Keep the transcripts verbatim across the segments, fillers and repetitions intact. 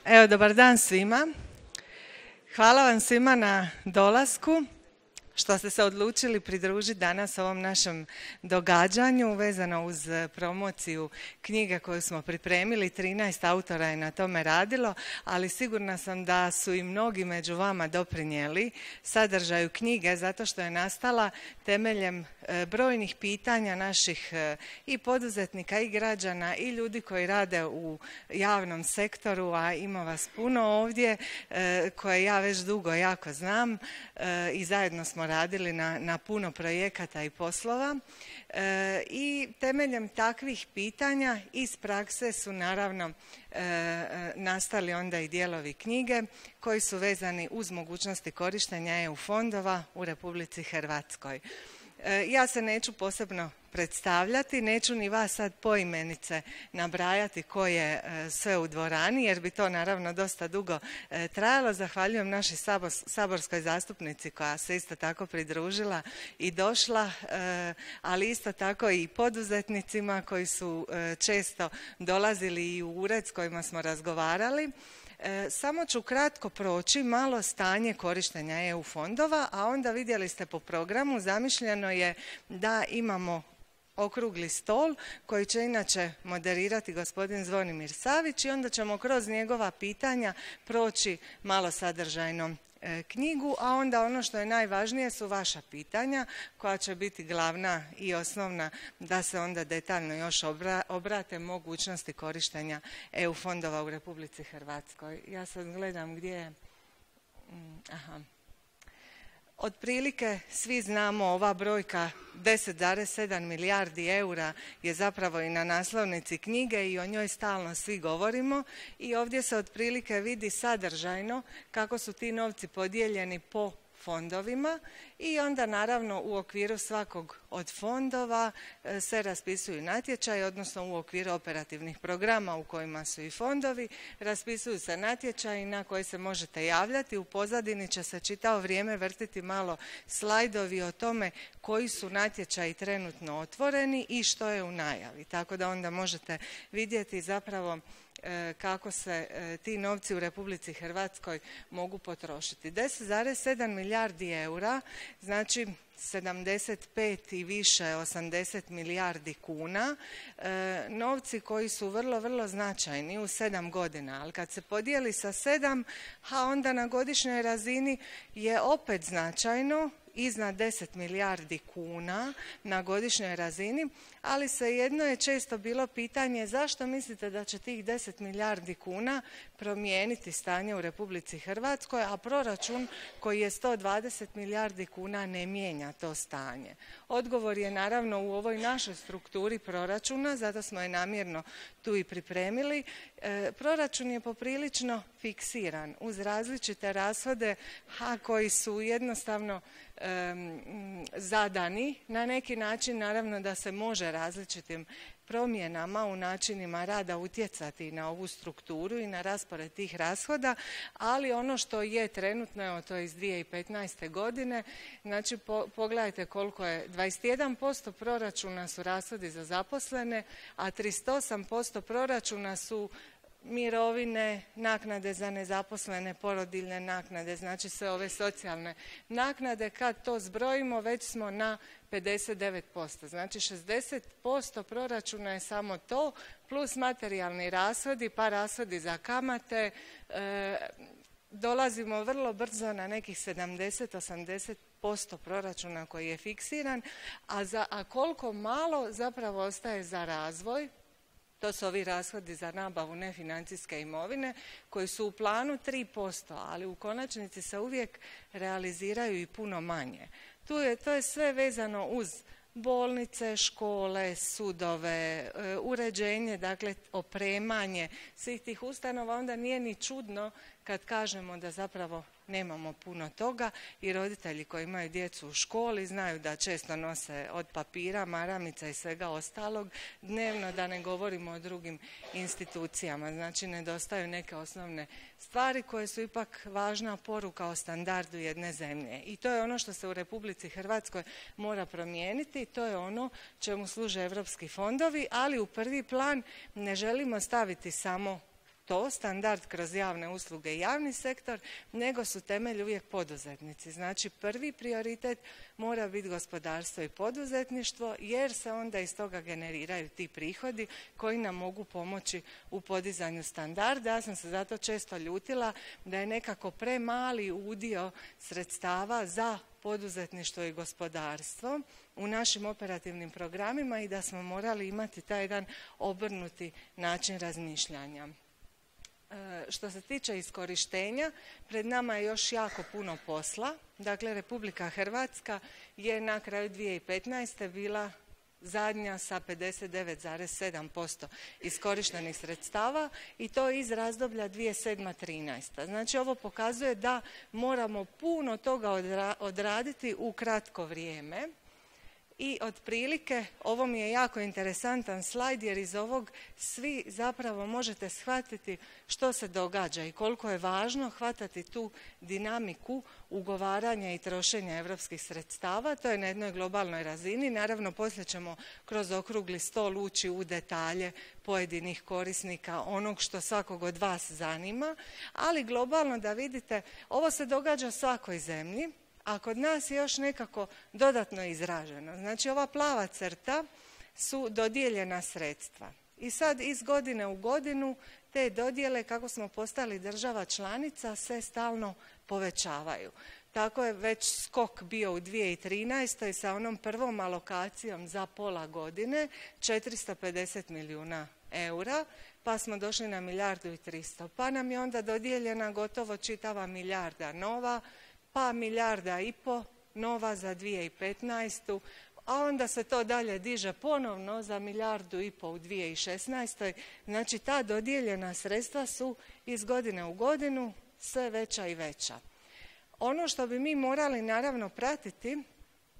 Evo, dobar dan svima. Hvala vam svima na dolasku, što ste se odlučili pridružiti danas ovom našem događanju vezano uz promociju knjige koju smo pripremili. trinaest autora je na tome radilo, ali sigurna sam da su i mnogi među vama doprinijeli sadržaju knjige zato što je nastala temeljem brojnih pitanja naših i poduzetnika i građana i ljudi koji rade u javnom sektoru, a ima vas puno ovdje koje ja već dugo jako znam i zajedno smo radili na, na puno projekata i poslova e, i temeljem takvih pitanja iz prakse su naravno e, nastali onda i dijelovi knjige koji su vezani uz mogućnosti korištenja E U fondova u Republici Hrvatskoj. E, ja se neću posebno predstavljati, neću ni vas sad poimenice nabrajati ko je sve u dvorani jer bi to naravno dosta dugo trajalo. Zahvaljujem našoj saborskoj zastupnici koja se isto tako pridružila i došla, ali isto tako i poduzetnicima koji su često dolazili i u ured s kojima smo razgovarali. Samo ću kratko proći malo stanje korištenja E U fondova, a onda vidjeli ste po programu, zamišljeno je da imamo okrugli stol koji će inače moderirati gospodin Zvonimir Savić i onda ćemo kroz njegova pitanja proći malo sadržajno e, knjigu, a onda ono što je najvažnije su vaša pitanja koja će biti glavna i osnovna da se onda detaljno još obra, obrate mogućnosti korištenja E U fondova u Republici Hrvatskoj. Ja sad gledam gdje je... Aha. Otprilike svi znamo ova brojka deset zarez sedam milijardi eura je zapravo i na naslovnici knjige i o njoj stalno svi govorimo i ovdje se otprilike vidi sadržajno kako su ti novci podijeljeni po fondovima i onda naravno u okviru svakog od fondova se raspisuju natječaji, odnosno u okviru operativnih programa u kojima su i fondovi, raspisuju se natječaji na koje se možete javljati. U pozadini će se čitavo vrijeme vrtiti malo slajdovi o tome koji su natječaji trenutno otvoreni i što je u najavi. Tako da onda možete vidjeti zapravo kako se ti novci u Republici Hrvatskoj mogu potrošiti. deset zarez sedam milijardi eura, znači sedamdeset pet i više, osamdeset milijardi kuna, e, novci koji su vrlo, vrlo značajni u sedam godina, ali kad se podijeli sa sedam, a onda na godišnjoj razini je opet značajno, iznad deset milijardi kuna na godišnjoj razini, ali svejedno je često bilo pitanje zašto mislite da će tih deset milijardi kuna promijeniti stanje u Republici Hrvatskoj, a proračun koji je sto dvadeset milijardi kuna ne mijenja to stanje. Odgovor je naravno u ovoj našoj strukturi proračuna, zato smo je namjerno tu i pripremili. E, proračun je poprilično fiksiran uz različite rashode, a koji su jednostavno Um, zadani na neki način, naravno da se može različitim promjenama u načinima rada utjecati na ovu strukturu i na raspored tih rashoda, ali ono što je trenutno, evo to je iz dvije tisuće petnaeste. godine, znači po, pogledajte koliko je, dvadeset jedan posto proračuna su rashodi za zaposlene, a trideset osam posto proračuna su mirovine, naknade za nezaposlene, porodiljne naknade, znači sve ove socijalne naknade. Kad to zbrojimo već smo na pedeset devet posto. Znači šezdeset posto proračuna je samo to, plus materijalni rashodi, pa rashodi za kamate. E, dolazimo vrlo brzo na nekih sedamdeset do osamdeset posto proračuna koji je fiksiran, a, za, a koliko malo zapravo ostaje za razvoj. To su ovi rashodi za nabavu nefinancijske imovine koji su u planu tri posto, ali u konačnici se uvijek realiziraju i puno manje. Tu je, to je sve vezano uz bolnice, škole, sudove, uređenje, dakle opremanje svih tih ustanova. Onda nije ni čudno kad kažemo da zapravo nemamo puno toga i roditelji koji imaju djecu u školi znaju da često nose od papira, maramica i svega ostalog dnevno, da ne govorimo o drugim institucijama. Znači nedostaju neke osnovne stvari koje su ipak važna poruka o standardu jedne zemlje. I to je ono što se u Republici Hrvatskoj mora promijeniti, to je ono čemu služe europski fondovi, ali u prvi plan ne želimo staviti samo to, standard kroz javne usluge i javni sektor, nego su temelj uvijek poduzetnici. Znači prvi prioritet mora biti gospodarstvo i poduzetništvo, jer se onda iz toga generiraju ti prihodi koji nam mogu pomoći u podizanju standarda. Ja sam se zato često ljutila da je nekako premali udio sredstava za poduzetništvo i gospodarstvo u našim operativnim programima i da smo morali imati taj jedan obrnuti način razmišljanja. E, što se tiče iskorištenja, pred nama je još jako puno posla. Dakle, Republika Hrvatska je na kraju dvije tisuće petnaeste. bila zadnja sa pedeset devet zarez sedam posto iskorištenih sredstava i to iz razdoblja dvije tisuće sedma trinaesta. Znači ovo pokazuje da moramo puno toga odraditi u kratko vrijeme i otprilike ovo mi je jako interesantan slajd jer iz ovog svi zapravo možete shvatiti što se događa i koliko je važno hvatati tu dinamiku ugovaranja i trošenja europskih sredstava. To je na jednoj globalnoj razini. Naravno, poslije ćemo kroz okrugli stol ući u detalje pojedinih korisnika, onog što svakog od vas zanima, ali globalno da vidite, ovo se događa svakoj zemlji, a kod nas je još nekako dodatno izraženo. Znači ova plava crta su dodijeljena sredstva. I sad iz godine u godinu te dodjele, kako smo postali država članica, se stalno povećavaju. Tako je već skok bio u dvije tisuće trinaestoj sa onom prvom alokacijom za pola godine, četiristo pedeset milijuna eura, pa smo došli na milijardu i tristo. Pa nam je onda dodijeljena gotovo čitava milijarda nova, pa milijarda i po nova za dvije tisuće petnaestu, a onda se to dalje diže ponovno za milijardu i po u dvije tisuće šesnaestoj. Znači ta dodijeljena sredstva su iz godine u godinu sve veća i veća. Ono što bi mi morali naravno pratiti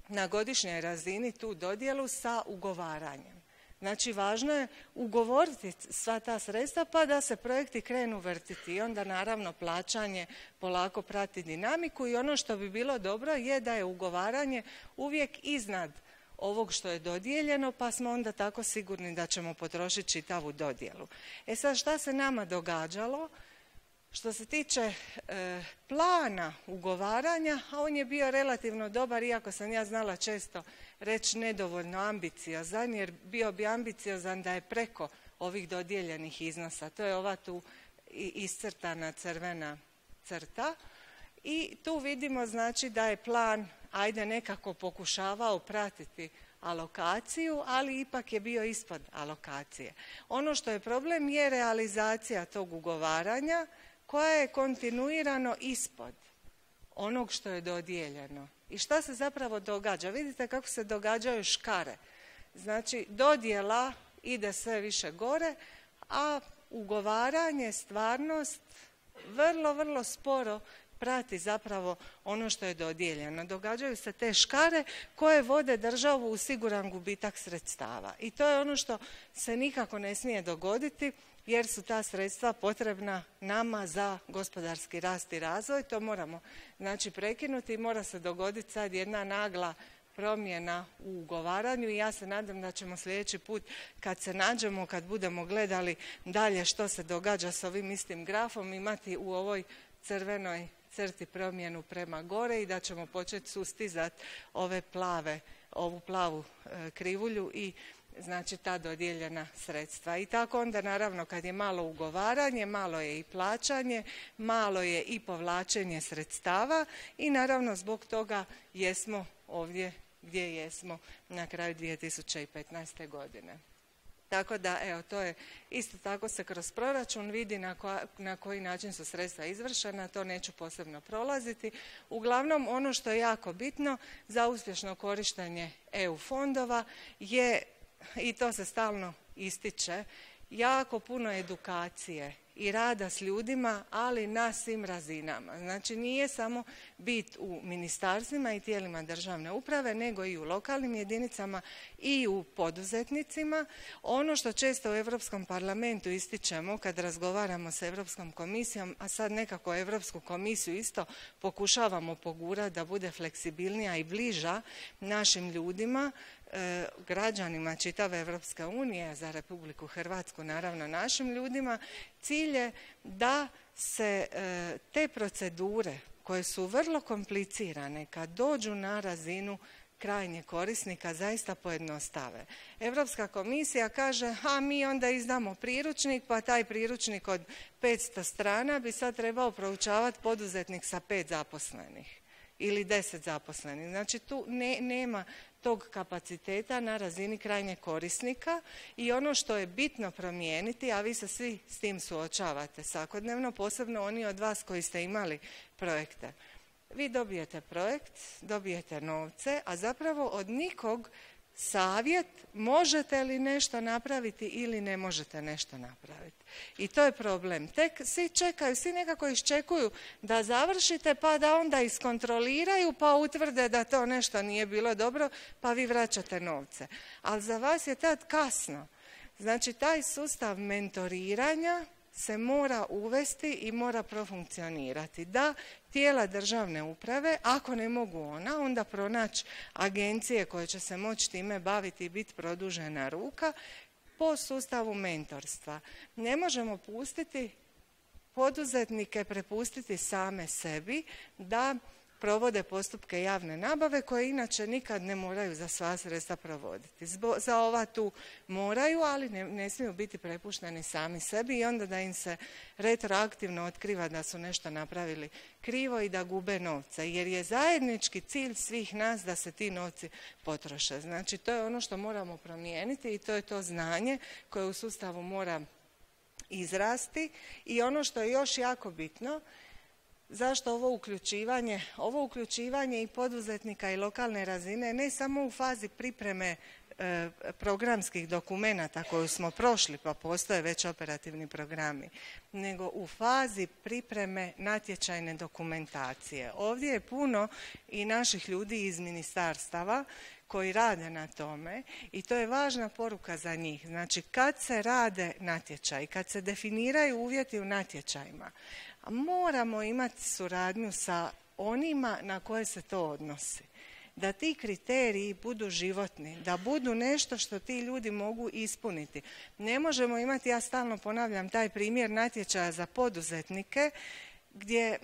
na godišnjoj razini tu dodjelu sa ugovaranjem. Znači važno je ugovoriti sva ta sredstva pa da se projekti krenu vrtiti i onda naravno plaćanje polako prati dinamiku i ono što bi bilo dobro je da je ugovaranje uvijek iznad ovog što je dodijeljeno pa smo onda tako sigurni da ćemo potrošiti čitavu dodjelu. E sad šta se nama događalo? Što se tiče e, plana ugovaranja, a on je bio relativno dobar, iako sam ja znala često reći nedovoljno ambiciozan, jer bio bi ambiciozan da je preko ovih dodijeljenih iznosa. To je ova tu iscrtana crvena crta. I tu vidimo znači da je plan, ajde nekako pokušavao pratiti alokaciju, ali ipak je bio ispod alokacije. Ono što je problem je realizacija tog ugovaranja, koja je kontinuirano ispod onog što je dodijeljeno. I šta se zapravo događa? Vidite kako se događaju škare. Znači, dodjela ide sve više gore, a ugovaranje, stvarnost, vrlo, vrlo sporo prati zapravo ono što je dodijeljeno. Događaju se te škare koje vode državu u siguran gubitak sredstava. I to je ono što se nikako ne smije dogoditi, jer su ta sredstva potrebna nama za gospodarski rast i razvoj. To moramo znači prekinuti i mora se dogoditi sad jedna nagla promjena u ugovaranju i ja se nadam da ćemo sljedeći put kad se nađemo, kad budemo gledali dalje što se događa s ovim istim grafom, imati u ovoj crvenoj crti promjenu prema gore i da ćemo početi sustizati ove plave, ovu plavu e, krivulju i znači ta dodijeljena sredstva. I tako onda naravno kad je malo ugovaranje, malo je i plaćanje, malo je i povlačenje sredstava i naravno zbog toga jesmo ovdje gdje jesmo na kraju dvije tisuće petnaeste. godine. Tako da, evo, to je isto tako se kroz proračun vidi na, ko, na koji način su sredstva izvršena, to neću posebno prolaziti. Uglavnom, ono što je jako bitno za uspješno korištenje E U fondova je, i to se stalno ističe, jako puno edukacije i rada s ljudima, ali na svim razinama. Znači nije samo bit u ministarstvima i tijelima državne uprave, nego i u lokalnim jedinicama i u poduzetnicima. Ono što često u Europskom parlamentu ističemo kad razgovaramo sa Europskom komisijom, a sad nekako Europsku komisiju isto pokušavamo pogurati da bude fleksibilnija i bliža našim ljudima, e, građanima čitave Evropske unije, za Republiku Hrvatsku, naravno našim ljudima, cilj je da se e, te procedure koje su vrlo komplicirane kad dođu na razinu krajnjeg korisnika zaista pojednostave. Europska komisija kaže, a mi onda izdamo priručnik, pa taj priručnik od petsto strana bi sad trebao proučavati poduzetnik sa pet zaposlenih ili deset zaposlenih. Znači tu ne, nema tog kapaciteta na razini krajnjeg korisnika i ono što je bitno promijeniti, a vi se svi s tim suočavate svakodnevno, posebno oni od vas koji ste imali projekte. Vi dobijete projekt, dobijete novce, a zapravo od nikog savjet možete li nešto napraviti ili ne možete nešto napraviti. I to je problem. Tek svi čekaju, svi nekako iščekuju da završite pa da onda iskontroliraju pa utvrde da to nešto nije bilo dobro pa vi vraćate novce. Ali za vas je tad kasno. Znači taj sustav mentoriranja se mora uvesti i mora profunkcionirati. Da tijela državne uprave, ako ne mogu ona, onda pronaći agencije koje će se moći time baviti i biti produžena ruka po sustavu mentorstva. Ne možemo pustiti poduzetnike, prepustiti same sebi da provode postupke javne nabave koje inače nikad ne moraju za sva sredstva provoditi. Zbo, za ova tu moraju, ali ne, ne smiju biti prepušteni sami sebi i onda da im se retroaktivno otkriva da su nešto napravili krivo i da gube novce. Jer je zajednički cilj svih nas da se ti novci potroše. Znači to je ono što moramo promijeniti i to je to znanje koje u sustavu mora izrasti. I ono što je još jako bitno, zašto ovo uključivanje? Ovo uključivanje i poduzetnika i lokalne razine ne samo u fazi pripreme e, programskih dokumenata koju smo prošli, pa postoje već operativni programi, nego u fazi pripreme natječajne dokumentacije. Ovdje je puno i naših ljudi iz ministarstava koji rade na tome i to je važna poruka za njih. Znači kad se rade natječaji, kad se definiraju uvjeti u natječajima, moramo imati suradnju sa onima na koje se to odnosi. Da ti kriteriji budu životni, da budu nešto što ti ljudi mogu ispuniti. Ne možemo imati, ja stalno ponavljam taj primjer natječaja za poduzetnike gdje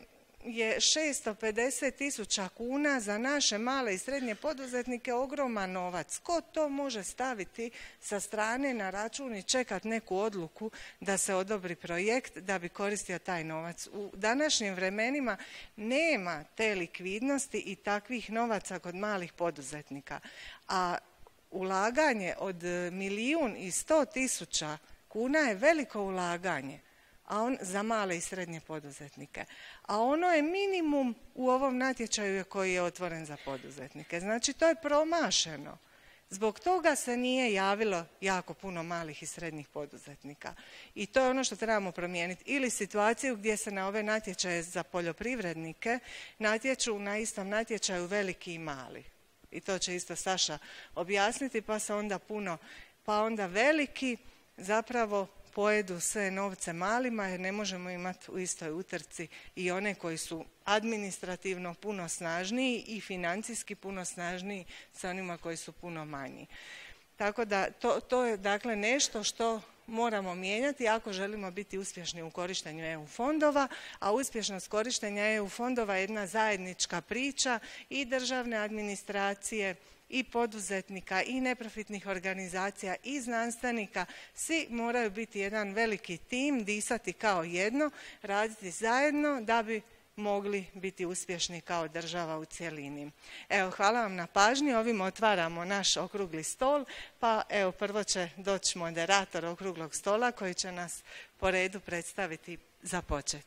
je šesto pedeset tisuća kuna za naše male i srednje poduzetnike ogroman novac. Ko to može staviti sa strane na račun i čekati neku odluku da se odobri projekt da bi koristio taj novac? U današnjim vremenima nema te likvidnosti i takvih novaca kod malih poduzetnika. A ulaganje od milijun i sto tisuća kuna je veliko ulaganje a on, za male i srednje poduzetnike. A ono je minimum u ovom natječaju koji je otvoren za poduzetnike. Znači to je promašeno. Zbog toga se nije javilo jako puno malih i srednjih poduzetnika. I to je ono što trebamo promijeniti. Ili situaciju gdje se na ove natječaje za poljoprivrednike natječu na istom natječaju veliki i mali. I to će isto Saša objasniti, pa se onda puno, pa onda veliki zapravo pojedu sve novce malima jer ne možemo imati u istoj utrci i one koji su administrativno puno snažniji i financijski puno snažniji sa onima koji su puno manji. Tako da to, to je dakle nešto što moramo mijenjati ako želimo biti uspješni u korištenju E U fondova, a uspješnost korištenja E U fondova je jedna zajednička priča i državne administracije i poduzetnika i neprofitnih organizacija i znanstvenika. Svi moraju biti jedan veliki tim, disati kao jedno, raditi zajedno da bi mogli biti uspješni kao država u cjelini. Evo, hvala vam na pažnji. Ovim otvaramo naš okrugli stol, pa evo prvo će doći moderator okruglog stola koji će nas po redu predstaviti za počet.